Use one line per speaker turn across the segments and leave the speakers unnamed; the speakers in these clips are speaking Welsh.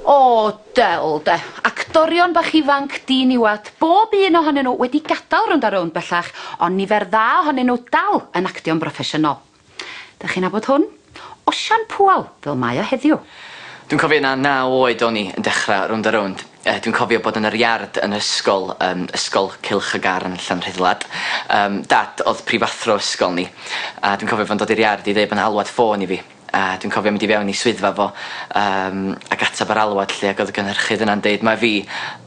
O, del de. Actorion bach ifanc diniwad, bob un ohonyn nhw wedi gadael Rownd a Rownd bellach, ond nifer dda ohonyn nhw dal yn actio'n broffesiynol. Dach chi'n nabod hwn? Osian Pŵel, fel mae o heddiw.
Dwi'n cofio na 9 oed o'n i yn dechrau Rownd a Rownd. Dwi'n cofio bod yn yr iard yn ysgol, ysgol Cylch y Garn Llanrhuddlad. Dad oedd prifathro ysgol ni, a dwi'n cofio fo'n dod i'r iard i ddeud bod 'na alwad ffôn i fi. A dwi'n cofio mynd i fewn i swyddfa fo ac ateb yr alwad 'lly, ac oedd y gynhyrchydd yna'n deud mai fi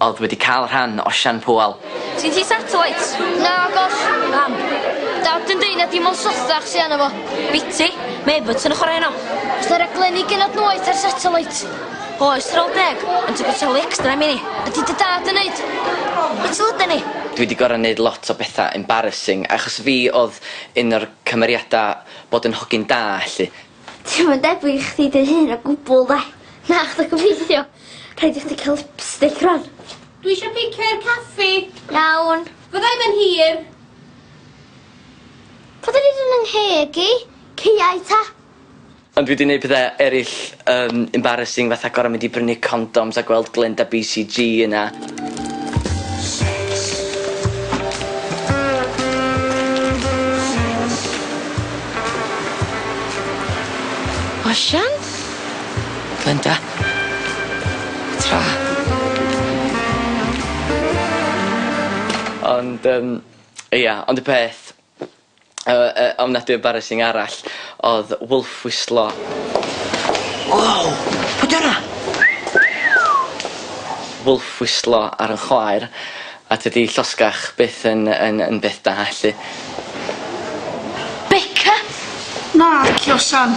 oedd wedi cael rhan Osian Pŵel.
Sgin ti satellites?
Nagos.
Pam?
Dad yn deud na dim ond sothach sy arno fo.
Biti, mae Everton yn chwarae heno.
Oes 'na raglenni genod noeth ar satellite?
Oes, ar ôl 10, ond ti'n gorfod talu extra am 'heini.
Ydi dy dad yn neud?
Be' ti lyda ni?
Dwi 'di gor'o' neud lot o betha embarrassing achos fi o'dd un o'r cymeriada bod yn hogyn da 'lly.
Ti'm yn debyg i chdi dy hun o gwbwl de. Na chdi gobeithio. Rhaid i chdi ca'l lipstick rwan.
Dwi isio picio i'r caffi.
Iawn.
Fydda i'm yn hir.
Pa dyn ni yn 'ngheg i? Caeau ta?
Ond dwi 'di neud pethe erill embarrassing fatha gor'o' mynd i brynu condoms a gweld Glenda BCG yna.
Osian?
Glenda. Tra. Ond ia, ond y peth ofnadwy embarrassing arall o'dd wolf whistlo. Wow! Pwy 'di wnna? Wolf whistlo ar 'yn chwaer a tydi llosgach byth yn yn yn beth da 'lly.
Beca!
Naci Osian.